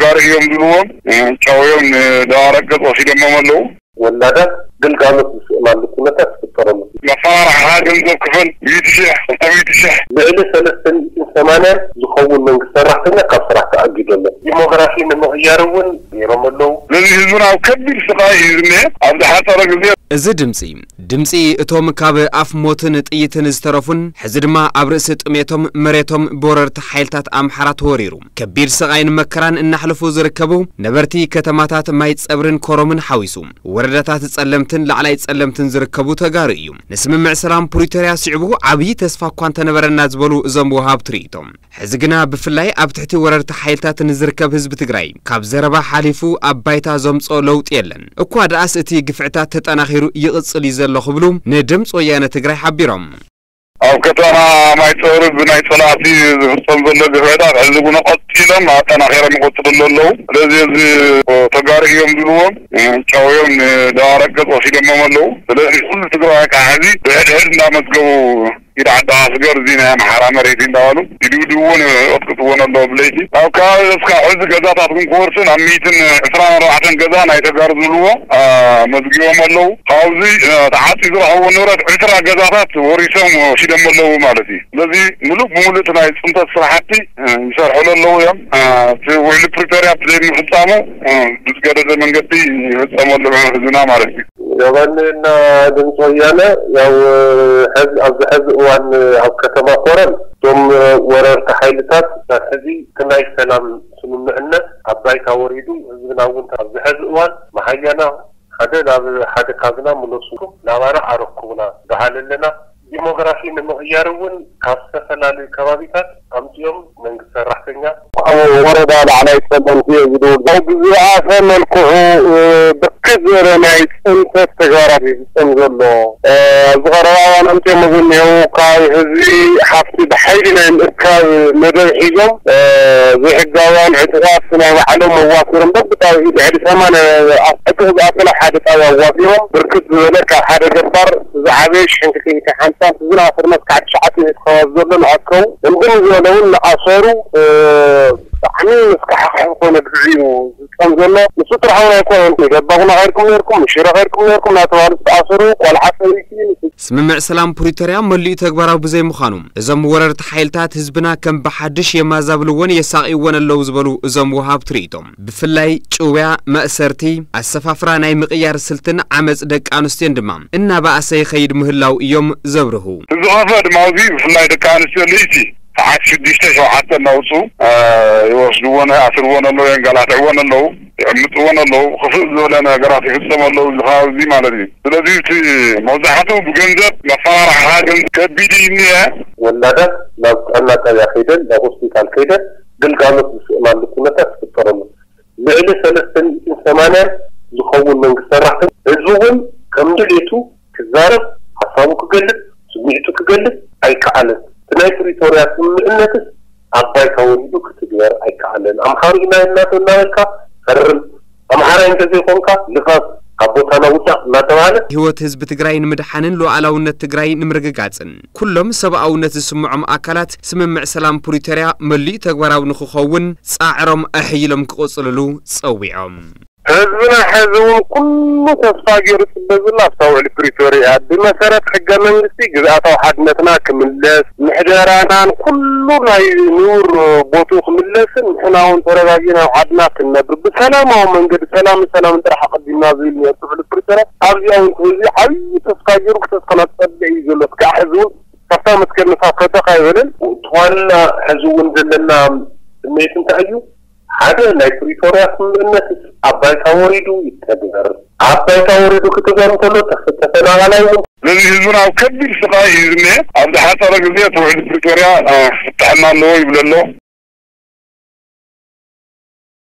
ጋሪ እዮም ዝብልዎም፣ እ፣ ጨውዮም ንደባርቅ ገጽ ወሲዶሞም ኣለዉ። ወላዳት ግልጋሎት ዝስእናሉ ኩነታት ዝፍጠረሉ። መፈራርሓ ገንዘብ ክፈል፣ ሚእቲ ሺሕ፣ ክልተ ሚእቲ ሺሕ። ልዕሊ ሰለስተ ሚእትን ሰማንያን ዝኸውን መንግስቲ ሰራሕተኛ ካብ ስራሕ ተኣጊዱ ኣሎ። ዲሞግራፊ ንምቕያር እውን ገይሮም ኣለዉ። ስለዚ ህዝብና ኣብ ከቢድ ስቓይ እዩ ዝኒሀ። ኣብ ዝሓጸረ ግዜ እዚ ድምጺ፣ ድምጺ እቶም ካብ ኣፍ ሞትን ጥይትን ዝተረፉን፣ ሕዚ ድማ ኣብ ርእሲ ጥሜቶም መሬቶም ብወረርቲ ሓይልታት ኣምሓራ ተወሪሩ፣ ከቢድ ስቓይን መከራን እናሕለፉ ዝርከቡ ነበርቲ ከተማታት ማይ ጸብርን ኮረምን ሓዊሱ፣ ወረዳታት ጸለምትን ላዕላይ ጸለምትን ዝርከቡ ተጋሩ እዩ። ንስምምዕ ሰላም ፕሪቶርያ ስዕቡ ዓብዪ ተስፋ እኳ እንተነበረና ዝበሉ እዞም ወሃብቲ ርእይቶ፣ ሕዚ ግና ብፍላይ ኣብ ትሕቲ ወረርቲ ሓይልታት ንዝርከብ ህዝቢ ትግራይ ካብ ዘረባ ሓሊፉ ኣብ ባይታ ዘምጽኦ ለውጢ የለን። እኳ ደኣስ እቲ ግፍዕታት ተጠናኺሩ ይቕጽል እዩ ዘሎ ክብሉ ንድምፂ ወያነ ትግራይ ሓቢሮም። ኣብ ከተማ ማይፀብሪ ብናይ ፀላእቲ ዝፍፀም ዘሎ ግፍዕታት ሕዚ እውን ቀፂሎም ኣጠናኺሮም ይቐፅሉ ኣለዉ። ስለዚ እዚ ተጋሩ እዮም ዝብልዎም ጨውዮም ንደባርቅ ገፅ ወሲዶሞም ኣለዉ። ስለዚ ኩሉ ትግራዋይ ከዓ ሕዚ ብሕድሕድ እንዳመዝገቡ ኢድ ዓዲ ኣስገር እዚ ናይ ኣምሓራ መሬት እዩ እንዳበሉ ይድብድብዎን ይቐጥቅጥዎን ኣለዉ ብለይቲ። ኣብ ከባቢ እስካብ ሕዚ ገዛታት ግን ክወርስን ኣብ ሚእትን ዕስራን ኣርባዕተን ገዛ ናይ ተጋሩ ዝብልዎ፣ አ፣ መዝጊቦም ኣለዉ። ካብዚ፣ አ፣ ተዓፅዩ ዝረኸብዎ ንብረት ዕስራ ገዛታት ወሪሶም ወሲዶም ኣለዉ ማለት እዩ። ስለዚ ምሉእ ብምሉእ እቲ ናይ ፅንተት ስራሕቲ፣ አ፣ ይሰርሕሉ ኣለዉ እዮም። አ፣ እቲ ውዕሊ ፕሪቶርያ ብዘይምፍፃሙ፣ አ፣ ብዝገደደ መንገዲ ይፍፀመሉ ህዝብና ማለት እዩ። ዮባኒ እና ድምፂ ወያነ ያው ሕዚ፣ ኣብዚ ሕዚ እዋን ኣብ ከተማ ኮረም እቶም ወረርቲ ሓይልታት ክሳብ ሕዚ እቲ ናይ ሰላም ስምምዕነት ኣብ ባይታ ወሪዱ ህዝብና እውን ኣብዚ ሕዚ እዋን መሃያና ሓደ ናብ ሓደ ካብና ምለሱ ናባና ኣረኩብና በሃል ኣለና። ዲሞግራፊ ንምቕያር እውን ካብ ዝተፈላለዩ ከባቢታት ኣምፅኦም መንግስቲ ሰራሕተኛ ኣብ ወረዳ ላዕላይ ጸለምቲ እዩ ዝድውል። ብዝበኣሰ መልክዑ፣ እ፣ ብርክት ዝበለ ናይ ጽንተት ተግባራት እዩ ዝፍጸም ዘሎ። እ፣ ኣብዚ ቀረባ እዋን ኣምፅኦሞ ዝኒሄው ካብ ህዝቢ ሃፍቲ ብሓይሊ ናይ ምእካብ መደብ ሒዞም፣ እ፣ ዘይሕጋውያን ዕጡቓት ናይ ባዕሎም ኣዋፊሮም በብጣቢኡ ልዕሊ ሰማንያ ዕጡቕ ዝኣክል ኣብ ሓደ ጣብያ ኣዋፊሮም ብርክት ዝበለ ካብ ሓደ ገባር ዝዓበየ ሽሕን ክልተ ሚእትን ሓምሳን ዝናፈርና እስካዕ ትሽዓተ ሚእቲ ከባቢ ዘሎ ንኣከቡ እምብን ዝበለ እውን ንኣሰሩ፣ እ፣ ብጣዕሚ መስካሕክሒ ዝኾነ ግፍዒ እዩ ዝፍጸም ዘሎ። ንሱ ጥራሕ እውን ኣይኮነን። ንገባጉና ከይድኩም ነርኩም፣ ንሽረ ከይድኩም ነርኩም እናተባህሉ ዝተኣሰሩ ቆልዓ ሰበይቲ፣ ንሱ ስምምዕ ሰላም ፕሪቶርያ መሊኡ ተግባራዊ ብዘይምዃኑ፣ እዞም ወረርቲ ሓይልታት ህዝብና ከም ብሓድሽ የማዛብልዎን የሳቕይዎን ኣለዉ ዝበሉ እዞም ወሃብቲ ርእይቶ፣ ብፍላይ ጭውያ፣ መእሰርቲ፣ ኣሰፋፍራ ናይ ምቕያር ስልትን ዓመጽ ደቂ ኣንስትዮን ድማ እናበኣሰ ይኸይድ ምህላው እዮም ዘብርሁ። ዝኸፍአ ድማ ኣብዚ ብፍላይ ደቂ ኣንስትዮ ልእቲ ሰዓት ሽዱሽተ ሸውዓተ እናውፅኡ፣ እ፣ ይወስድዎን ይኣስርዎን ኣለዉ፣ የንገላትዕዎን ኣለዉ፣ ይዕምፅዎን ኣለዉ፣ ክፍእ ዝበለ ነገራት ይፍፀም ኣለዉ፣ እዚ ከባቢ እዚ ማለት እዩ። ስለዚ እቲ መብዛሕትኡ ብገንዘብ መፈራርሓ ግን ከቢድ እዩ እኒሀ። ወላዳት ናብ ጥዕና ጣብያ ከይደን ናብ ሆስፒታል ከይደን ግልጋሎት ዝስእናሉ ኩነታት ይፍጠረሉ። ልዕሊ ሰለስተ ሚእትን ሰማንያን ዝኸውን መንግስቲ ሰራሕተኛ ህዝቢ እውን ከም ድሌቱ ክዛረብ፣ ሓሳቡ ክገልጽ፣ ስምዒቱ ክገልጽ ኣይከኣለን። እቲ ናይ ፕሪቶርያ ስምምዕነትስ ኣብ ባይታ ወሪዱ ክትግበር ኣይከኣለን። ኣምሓሩ ኢና እናተ-፣ እናበልካ ፈርም፣ ኣምሓራይ እንተዘይኮንካ ልፈፍ፣ ካብ ቦታና ውዳእ እናተባህለ ህይወት ህዝቢ ትግራይ ንምድሓንን ሉዓላውነት ትግራይ ንምርግጋጽን ኩሎም ሰብኣውነት ዝስምዖም ኣካላት ስምምዕ ሰላም ፕሪቶርያ መሊኡ ተግባራዊ ንክኸውን ጻዕሮም ኣሕይሎም ክቕጽልሉ ጸዊዖም። ህዝብና ሕዚ እውን ኩሉ ተስፋ ገይሩ ዝጽበ ዘሎ ኣብታ ውዕሊ ፕሪቶርያ እያ። ብመሰረት ሕገ መንግስቲ ግዝኣታዊ ሓድነትና ክምለስ፣ ምሕደራናን ኩሉ ናይ ንቡር ቦትኡ ክምለስን ንሕና እውን ተረጋጊና ኣብ ዓድና ክንነብር ብሰላማዊ መንገዲ ሰላምን ሰላምን ጥራሕ ኣቐዲምና ዝብል ነይሩ እቲ ውዕሊ ፕሪቶርያ። ኣብዚኣ እውን ህዝቢ ዓብዪ ተስፋ ገይሩ ክተስፋ እናተጸበየ እዩ ዘሎ። እስካዕ ሕዚ እውን ካብታ መትከል ንሳ ፈተኽ ኣይበለን። እቲ ዋና ሕዚ እውን ዘለና ስምዒት እንታይ እዩ? ሓደ ናይ ፕሪቶርያ ስምምዕነት ኣብ ባይታ ወሪዱ ይተግበር። ኣብ ባይታ ወሪዱ ክትግበር እንተሎ ተፈ-፣ ተፈናቓላይ እውን ነዚ ህዝብና ኣብ ከቢድ ስቓይ እዩ ዝኒሀ። ኣብ ዝሓፀረ ግዜ እቲ ውዕሊ ፕሪቶርያ፣ እ፣ ክፍታሐና ኣለዎ ይብል ኣሎ።